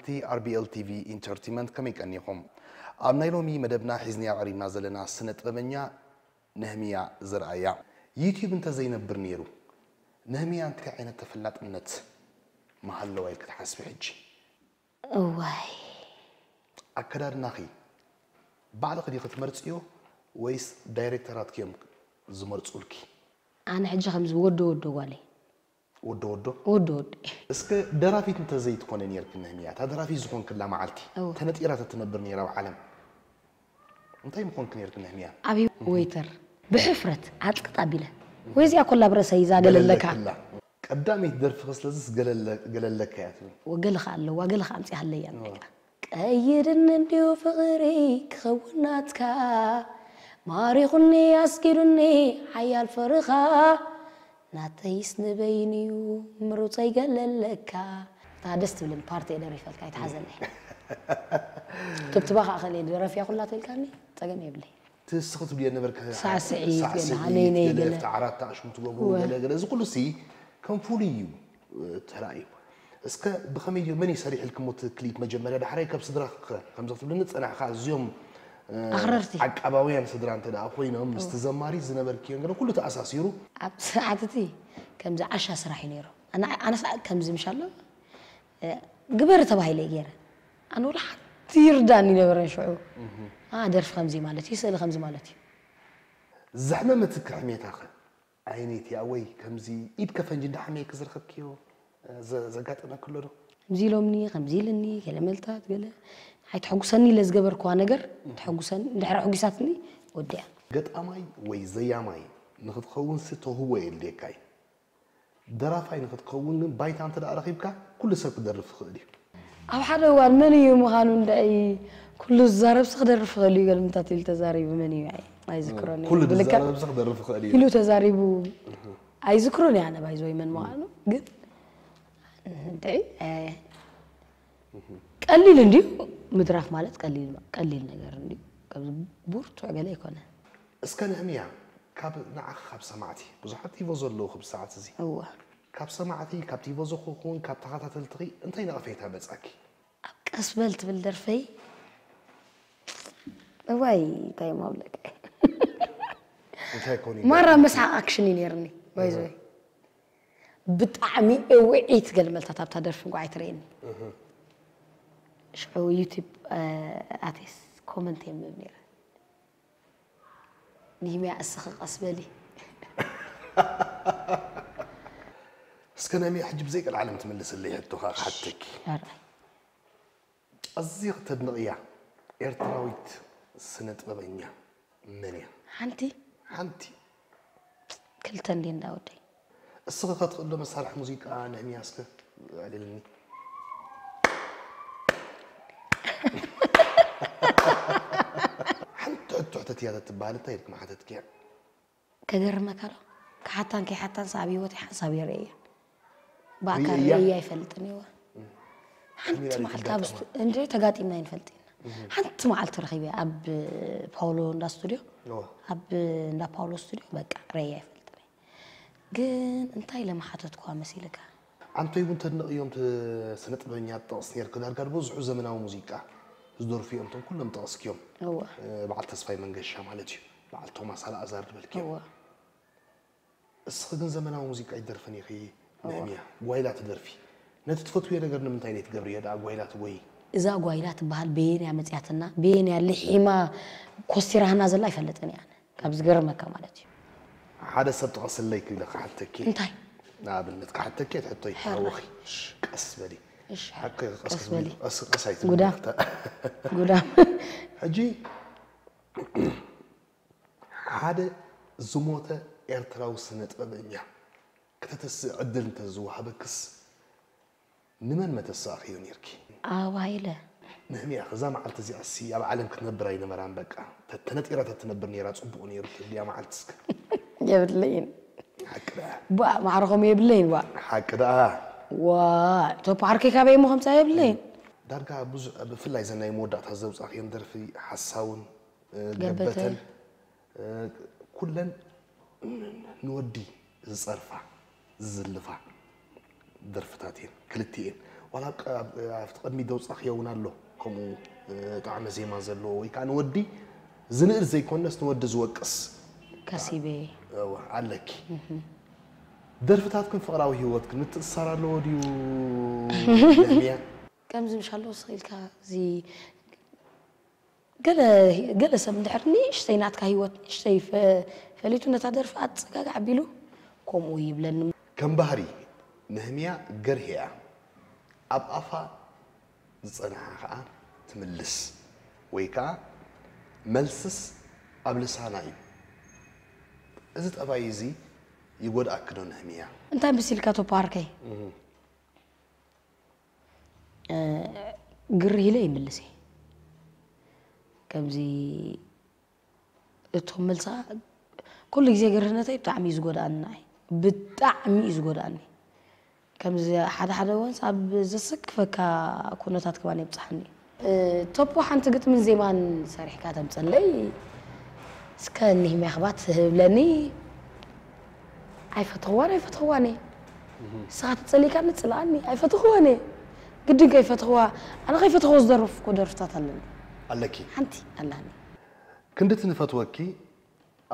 ተኸታተልቲ ኣር ቢ ኤል ቲ ቪ ኢንተርቴይንመንት ከመይ ቀኒኹም? ኣብ ናይ ሎሚ መደብና ሒዝናዮ ቀሪብና ዘለና ስነ ጥበበኛ ነህምያ ዘርኣያ። ዩትዩብ እንተዘይነብር ነይሩ ነህምያ እንታይ ዓይነት ተፈላጥነት ምሃለዋ ኢልኪ ትሓስቢ ሕጂ? እዋይ ኣከዳድናኺ ባዕልኺ ዲኺ ትመርፅዮ ወይስ ዳይሬክተራትኪ እዮም ዝመርፁልኪ? ኣነ ሕጂ ከምዚ ወዶ ወዶ ጓለይ ወዶ ወዶ ወዶ ወዶ እስከ ደራፊት እንተዘይትኾነ ነርኪ ነህምያ፣ እታ ደራፊት ዝኾንክላ መዓልቲ እወ። ተነጢራ ተትነብር ነይራ ኣብ ዓለም እንታይ ምኾንኪ ነርኪ ነህምያ? ኣብ ወይተር ብሕፍረት ዓጥቅጥ ኣቢለ ወይ እዚኣ ኮላ ብረሰይ ዛገለለካ ገለለክላ። ቀዳመይቲ ደርፍኺ ስለዚስ ገለለ- ገለለካ እያ ትብል። ወገለ ከ ኣለዋ ገለ ከ ኣምፂ ሃለያ ቀይድኒ እንዲዩ ፍቕሪ ክኸውን ናትካ ማሪኹኒ ኣስጊዱኒ ሓያል ፍርኻ ናተይስ ንበይንዩ ምሩፀይ ገለለካ እታ ደስ ትብልን ፓርቲ እየ ደሪፈልካ ይትሓዘለይ ትብትባ ከዓ ከለ ደረፍያ ኩላ ተልካኒ ፀገም የብለይ ትስኺ ትብልዮ ነበርኪ ሳዕስዒት ገለ ሳዕስዒት ሃነይነይ ገለ ገለ ኣብቲ ዓራት ኣሽሙ ትገብሩ እወ። ገለ ገለ እዚ ኩሉ ሲ ከም ፍሉይ እዩ እ፣ ተራእዩ። እስከ ብኸመይ እዩ መን እዩ ሰሪሕልክሞ እቲ ክሊፕ መጀመርያ ዳሕራይ ካብ ስድራ ከምዚ ክትብልኒ ዝጸናሕካ ኣዝዮም እ፣ ኣኽረርቲ። ዓቃባውያን ስድራ እንተ ደኣ ኮይኖም ምስቲ ዘማሪ ዝነበርክዮ ገለ ኩሉ ተኣሳሲሩ ኣብ ሰዓት እቲ ከምዚ ዓሻ ስራሕ እዩ ነይሩ ኣነ ኣነ ሰዓት ከምዚ ምሻሎ ግበሪ ተባሂለ ገይረ ኣነ ወላ ሓንቲ ይርዳኒ ነበረን ሽዑ ደርፊ ከምዚ ማለት እዩ ስእሊ ከምዚ ማለት እዩ ዘሕመመትኪ ሕሜታኸ? ዓይነይትያ ወይ ከምዚ ኢድ ከፈንጂ እንዳሓመየኪ ዝረኸብክዮ ዘጋጠመኪ ኣሎ ዶ? ከምዚ ኢሎምኒ ከምዚ ኢልኒ ገለ መልታት ገለ ኣይተሐጉሰኒ ኢለ ዝገበርክዋ ነገር ተሐጉሰኒ እንድሕር ኣሐጒሳትኒ ወዲኣ ገጣማይ ወይ ዘያማይ ንክትኸውን ሲ ተውህቦ የድልየካ እዩ። ደራፋይ ንክትከውን ግን ባይታ እንተ ደኣ ረኺብካ ኩሉ ሰብ ክደርፍ ይኽእል እዩ። ኣብ ሓደ እዋን መን እዩ ምዃኑ እንዳይ ኩሉ ዝዛረብሲ ክደርፍ ይኽእል እዩ ገለ ምታት ኢሉ ተዛሪቡ መን እዩ ኣይ ኣይዝክሮን ኩሉ ብልክዕ ዝዛረብሲ ክደርፍ ይኽእል እዩ። ኢሉ ተዛሪቡ ኣይዝክሮን እየ ኣነ ባይዘወይ መን ምዃኑ ግን እንታይ ቀሊል እንድዩ ምድራፍ ማለት ቀሊል ቀሊል ነገር እንድዩ ከምዚ ብርቱዕ ገለ ኣይኮነ እስከ ንህምያ ካብ ንዓኺ ካብ ሰማዕቲ ብዙሓት ቲቮ ዘለዉ ክብ ሰዓት እዚ እወ ካብ ሰማዕቲ ካብ ቲቮ ዝኹን ካብ ተኸታተልትኺ እንታይ ነቐፌታ በጻኪ? ኣብ ቀስ በል ትብል ደርፈይ እዋይ እንታይ ማብለቀ እንታይ ኮን ማራ መስሓቅ ኣክሽን እዩ ነይርኒ ባይዘወይ ብጣዕሚ እውዒት ገልመልታት ኣብታ ደርፊ እንኳ ኣይትርእየኒ ሽዑ ዩቲብ ኣቴስ ኮመንት የንብብ ነይረ ንህምያ እስኺ ቀስ በሊ እስከ ነሚያ ሕጂ ብዘይ ቀልዓለም ትምልስለይ ሕቶኻ ክሓተኪ ኣርኣይ ኣዝየ ክተድንቕያ ኤርትራዊት ስነ ጥበበኛ መን እያ? ሓንቲ ሓንቲ ክልተ እንዲ እንዳወደይ እስኺ ከትኽእሎ መሳርሒ ሙዚቃ ነህምያ እስከ ኣልልኒ ሓንቲ ሕቶ ሕተትያ ተትበሃል እንታይ ኢልኪ ምሓተትክያ? ከገርመካ ዶ ክሓታን ከይሓታን ኣብ ህይወተይ ሓንሳብ የርእያ ብኣካል ርእያ? ርእያ ኣይፈልጥን እዋ ሓንቲ ከመይ መዓልቲ ኢልካ ኣብ ስቱ- እንደ ተጋጢምና ኣይንፈልጥ ኢና ሓንቲ መዓልቲ ረኺበ ኣብ ፓውሎ እንዳ ስቱድዮ ኦ፣ ኣብ እንዳ ፓውሎ ስቱድዮ በቃ ርእያ ኣይፈልጥን እየ። ግን እንታይ ኢለ ምሓተትኩዋ መሲልካ ኣንቶይ እውን ተድንቕዮም ስነ ጥበበኛ ጠቕስ ነርክ ዳርጋ ብዙሑ ዘመናዊ ሙዚቃ ዝደርፉ እዮም እቶም ኩሎም ጠቕስክዮም እወ በዓል ተስፋይ መንገሻ ማለት እዩ በዓል ቶማስ ኣልኣዛር ዝበልክዮም እወ እስኺ ግን ዘመናዊ ሙዚቃ ይደርፍን ኢኺ ንሕምያ ጓይላ ትደርፊ ነቲ ትፈትውዮ ነገር ንምንታይ ነይ ትገብርዮ ደኣ ጓይላ ትጎይ እዛ ጓይላ ትበሃል በየንያ መፅያትና በየንያ ልሒማ ኮስቲራህና ዘላ ኣይፈልጥን እያ ካብ ዝገርመካ ማለት እዩ ሓደ ሰብ ጥቐስለይ ክብለ ክሓተኪ እንታይ ንኣብነት ክሓተኪ ትሕቶ ሕራይ። ይታወኺ ቀስ በሊ እሺ ሓቂ ቀስ በሊ ቀስ ኣይት ጉዳም። ጉዳም ሕጂ ሓደ ዝሞተ ኤርትራዊ ስነ ጥበበኛ ከተተስእ ዕድል እንተዝወሃበክስ ንመን መተሳእኽዮ ነርኪ? ኣባይለ ንህምያ እዛ መዓልቲ እዚኣ ሲ ኣብ ዓለም ክትነብር ኣይነበራን በቃ ተተነጢራ ተትነብር ነይራ ጽቡቕ ነይሩ ትብልያ መዓልቲ እስከ የብለይን ሓቂ ደኣ ባ ማዕረኾም የብለይን ዋ ሓቂ ደኣ ዋ ቶፖ ዓርከይ ካበይ እሞ ከምፃ የብለይን ዳርጋ ብዙ ብፍላይ ዘናይ መወዳእታ ዘውፃእኽዮም ደርፊ ሓሳውን እ፣ ገበተ። ገበተን እ፣ ኩለን ንወዲ ዝፀርፋ ዝዝልፋ ደርፍታት እየን ክልቲኤን ዋላ ኣብቲ ቅድሚ ደውፃ ክየውን ኣሎ ከምኡ ጣዕመ ዜማ ዘለዎ ወይ ከዓ ንወዲ ዝንእድ ዘይኮነስ ንወዲ ዝወቅስ ከሲበ እወ፣ ኣለኪ። ደርፍታትክን ፍቕራዊ ህይወትክን ምትእስሳር ኣለዎ ድዩ? ነህምያ ከምዚ ምሻሎ ስኢልካ እዚ ገለ ገለ ሰብ እንድሕር ንእሽተይ ናትካ ህይወት ንእሽተይ ፈ- ፈሊጡ ነታ ደርፊ ኣፀጋግ ኣቢሉ ከምኡ ይብለኒ። ከም ባህሪ ነህምያ ገርህ እያ። ኣብ ኣፋ ዝጸንሓ ከኣ ትምልስ ወይ ከኣ መልስስ ኣብ ልሳና እዩ። እዚ ጠባይ እዚ ይጎድኣኪ ዶ ነህምያ? እንታይ መሲልካ ቶፖ ዓርከይ? ግር ኢለ ይምልስ እየ። ከምዚ እቶም መልስኻ ኩሉ ግዜ ግርህነተይ ብጣዕሚ እዩ ዝጎድኣኒ ንዓይ። ብጣዕሚ እዩ ዝጎድኣኒ። ከምዚ ሓደ ሓደ እዋንስ ኣብ ዘሰክፈካ ኩነታት ከማን የብፅሓኒ እዩ። ቶፖ ሓንቲ ግጥምን ዜማን ሰሪሕካ ተምፀለይ እስከ እኒህ ሚያኽባት ህብለኒ ኣይፈተኽዋን ኣይፈተኽዋን እየ። ንስኻ ተፀሊእካኒ ፅልኣኒ ኣይፈተኽዋን እየ። ግድን ከይፈተኽዋ ኣነ ከይፈተኽዎ ዝደረፍኩ ደርፍታት ኣለኒ። ኣለኪ ሓንቲ ኣላኒ። ክንድቲ ንፈትወኪ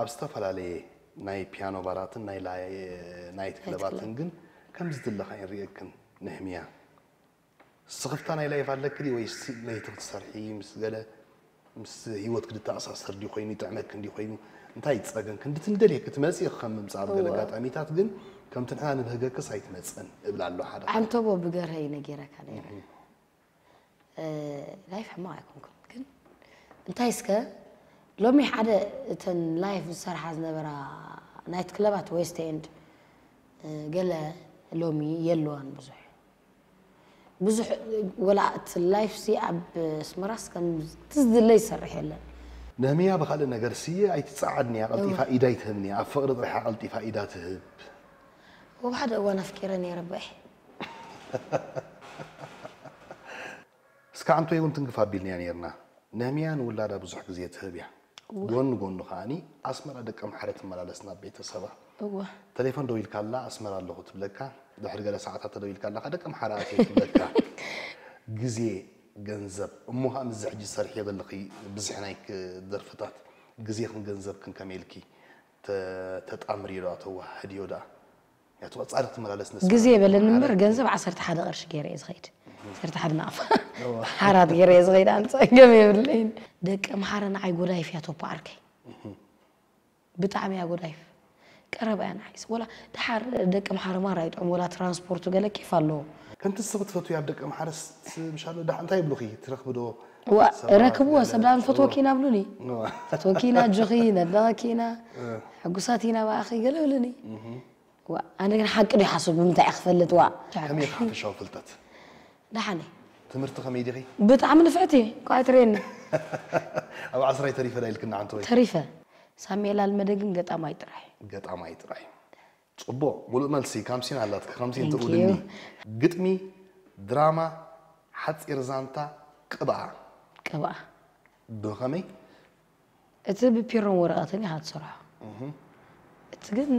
ኣብ ዝተፈላለየ ናይ ፒያኖ ባራትን ናይ ናይት ክለባትን ግን ከምዚ ዘለኻ ይርእየክን ንህምያ ስኽፍታ ናይ ላይፍ ኣለኪ ድዩ ወይስ ለይቲ ክትሰርሒ ምስ ገለ ምስ ህይወት ክትተኣሳሰር ድዩ ኮይኑ ይጥዕመኪ እንዲ ኮይኑ እንታይ ይፀገም ክንድቲ ንደልየ ክትመፅእ ከም ምምፃእ ኣብ ገለ ኣጋጣሚታት ግን ከምቲ ንሕና ንብህገክስ ኣይትመፅእን እብል ኣሎ ሓደ ዓንተቦ ብገርሀ እዩ ነጊረካ ነይረ ላይፍ ሕማቕ ኣይኮንኩን ግን እንታይ እስከ ሎሚ ሓደ እተን ላይፍ ዝሰርሓ ዝነበራ ናይት ክለባት ዌስት ኤንድ ገለ ሎሚ የለዋን ብዙሕ ብዙሕ ወላ እቲ ላይፍ ሲ ኣብ ኣስመራስ ከምቲ ዝድለ ይሰርሕ የለን ነህምያ ብካልእ ነገር ሲ ኣይትፀዓድንያ ቀልጢፋ ኢድ ኣይትህብንያ ኣብ ፍቅሪ ጥራሕ ቀልጢፋ ኢዳ ትህብ ወብ ሓደ እዋን ኣፍቂረ ነይረ በይ እስካ ዓንቶይ እውን ትንክፍ ኣቢልንያ ነይርና ነህምያ ንውላዳ ብዙሕ ግዜ ትህብ እያ ጎኒ ጎኒ ከዓኒ ኣስመራ ደቂ ኣምሓረ ትመላለስ ናብ ቤተሰባ እወ ተሌፎን ደው ኢልካላ ኣስመራ ኣለኹ ትብለካ ድሕሪ ገለ ሰዓታት ተደው ኢልካላ ደቂ ኣምሓረ ኣትየ ትብለካ ግዜ ገንዘብ እሞ ከዓ ምዚ ሕጂ ዝሰርሕዮ ዘለኺ ብዝሒ ናይ ደርፍታት ግዜኽን ገንዘብክን ከመይ ኢልኪ ተጣምርዮ ዶ ተዋህድዮ ደኣ ያቱ ጻድቅ ትመላለስ ነስ ግዜ በለኒ እምበር ገንዘብ ዓሰርተ ሓደ ቅርሺ ገይረ እየ ዝኸይድ ዓሰርተ ሓደ ናቕፋ ሓራት ገይረ እየ ዝኸይድ ኣነ ፀገም የብለይን ደቂ ኣምሓረ ንዓይ ጎዳይፍ እያ ቶፖ ዓርከይ ብጣዕሚ እያ ጎዳይፍ ቀረባ እያ ንዓይስ ወላ ድሓር ደቂ ኣምሓረ ማራ ይጥዑም ወላ ትራንስፖርቱ ገለ ኬፍ ኣለዎ ከምቲ ንስኺ ትፈትውያ ኣብ ደቂ ኣምሓረስ ምሻሎ ዳሕ እንታይ ይብሉኺ ትረኽቢ ዶ ዋ ረክብዎ ሰብ ዳኣ ንፈትወኪ ኢና ብሉኒ ፈትወኪ ኢና ኣጆኺ ነድነቐኪ ኢና ሕጉሳት ኢና ብኣኺ ገለ ብሉኒ ኣነ ግን ሓቂ ዶ ይሓስብ ብምንታይ እየ ክፈልጥ ዋ ከመይ ሓፈሻዊ ፍልጠት ደሓነ ትምህርቲ ከመይ ዲኺ ብጣዕሚ ንፍዕቲ ኳ ኣይትርእየኒ ኣብ ዓስራይ ተሪፈ ዳ ኢልክና ሓንቲ ወይ ተሪፈ ሳሜላ ልመደ ግን ገጣማይ ጥራሕ ገጣማይ ጥራሕ ጽቡቕ ሙሉእ መልሲ ካምሲን ኣላትኪ ከምሲን ትእውልኒ ግጥሚ ድራማ ሓፂር ዛንታ ቅብኣ ቅብኣ ብኸመይ እቲ ብፒሮን ወረቐትን ኢኻ ትሰርሖ እቲ ግን